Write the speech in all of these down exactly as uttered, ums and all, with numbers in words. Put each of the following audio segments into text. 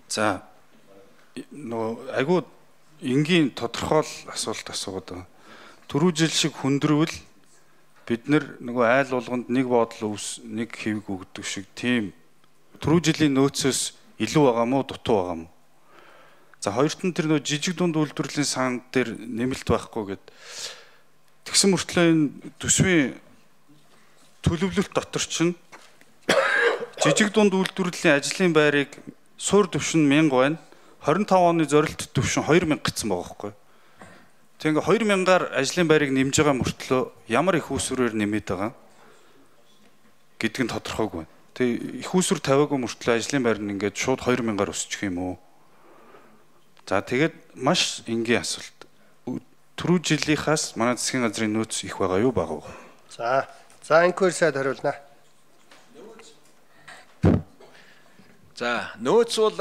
За нөгөө айгүй энгийн тодорхойл асуулт асуугаад байгаа. Түрүү жил шиг хүндрвэл бид нөгөө айл болгонд нэг бодол өвс нэг хэвэг өгдөг шиг тийм түрүү жилийн нөөцөөс илүү байгаа мó дутуу байгаа мó. За хоёрт нь тэр нөгөө жижиг дунд үйлдвэрлэлийн сан дээр нэмэлт байхгүй гэд тэгсэн мөртлөө энэ төсвийн төлөвлөлт дотор чинь жижиг дунд үйлдвэрлэлийн ажлын байрыг суур төвшин мянга байна. двадцать пять оны зорилт төвшин two thousand гэсэн байгаа байхгүй. Тэг ингээ two thousand-аар ажлын байрыг нэмж байгаа мөртлөө ямар их үүсвэрээр нэмээд байгаа гэдг нь тодорхойгүй байна. Тэг их үүсвэр тавиагүй мөртлөө ажлын байр нь ингээд шууд two thousand-аар өсчих юм уу? За тэгээд маш энгийн асуулт. Түрүү жилийнхаас манай засгийн газрын нөөц их байгаа юу бага уу? За, за инквер сайд хариулна. За, нөөц бол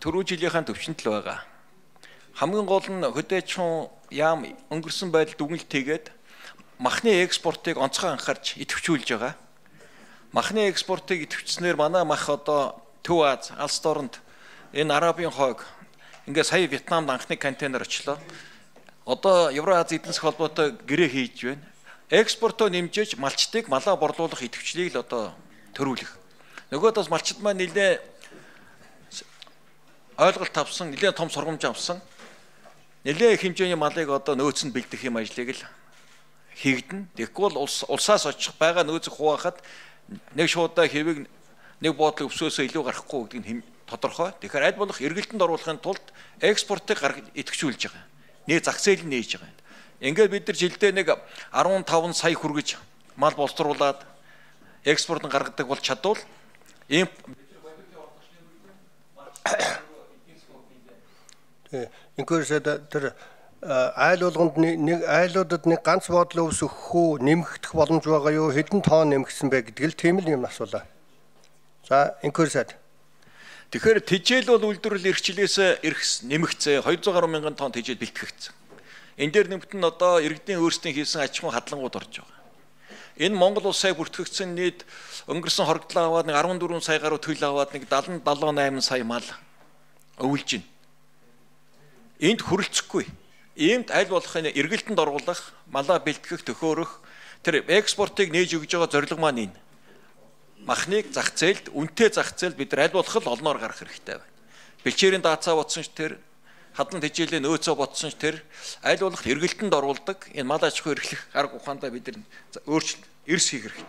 түрүү жилийнхаа төвчөнд л байгаа. Хамгийн гол нь хөдөөчүүн яам өнгөрсөн байдалд дүгнэлт хийгээд махны экспортыг онцгой анхаарч идэвхжүүлж байгаа. Махны экспортыг идэвхжснээр манай мах одоо Төв Аз, Алс дорнд энэ Арабын хойг ингээ сая Вьетнамд анхны контейнер очлоо. Одоо Евразийн эдийн засгийн холбоотой гэрээ хийж байна. Экспортоо нэмжиж малчтыг малаа борлуулах идэвхжлийг л одоо төрүүлэх. Нөгөөд бас малчд маань нэлээ ойлголт авсан, нэлээд том сургамж авсан. Нэлээд хэмжээний малыг одоо нөөцөнд бэлдэх юм ажлыг л хийгдэн. Тэгэхгүй бол улсаас очих байгаа нөөцийг хуваахад нэг шуудаа хэвийг нэг буудлын өвсөөсөө илүү гарахгүй гэдгийг тодорхой. Тэгэхээр аль болох эргэлтэнд оруулахын тулд экспортыг идэвхжүүлж байгаа. Нэг зах зээл нь нээж байгаа. Ингээд бид нар жилдээ нэг fifteen сая хүргэж мал боловсруулад экспортыг гаргадаг бол чадвал ийм инквер сайд тэр айл болгонд нэг айлуудад нэг ганц бодлоо ус өгөх үү, нэмэгдэх боломж байгаа юу, хэдэн тонн нэмэгдсэн бэ гэдгийг л тийм л юм асуулаа. За инквер сайд. Тэгэхээр тэжээл бол үйлдвэрлэл эрхчлээс эрх нэмэгцээ two hundred гаруй мянган тонн тэжээл бэлтгэгдсэн. Энэ дээр нэмэгт нь одоо иргэдийн өөрсдийн хийсэн аж ахуйн хадлангууд орж байгаа. Энэ Монгол улсаа бүртгэгдсэн нийт өнгөрсөн хоригдлоо аваад нэг fourteen сая гаруй төлөв аваад нэг seventy seventy-eight сая мал өвлж байна. Энд хүрэлцэхгүй. Иймд аль болох эргэлтэнд оруулах, малаа бэлтгэх, төхөөрөх тэр экспортыг нээж өгж байгаа зорилго маань энэ. Махныг зах зээлд, үнэтэй зах зээлд бид аль болох л олноор гарах хэрэгтэй байна. Бэлчээрийн даацаа бодсон ч тэр, хадлан тэжээлийн нөөцөө бодсон ч тэр аль болох эргэлтэнд оруулдаг энэ мал аж ахуй эрхлэх арга ухаандаа бид өөрчлөлт эрс хийх хэрэгтэй.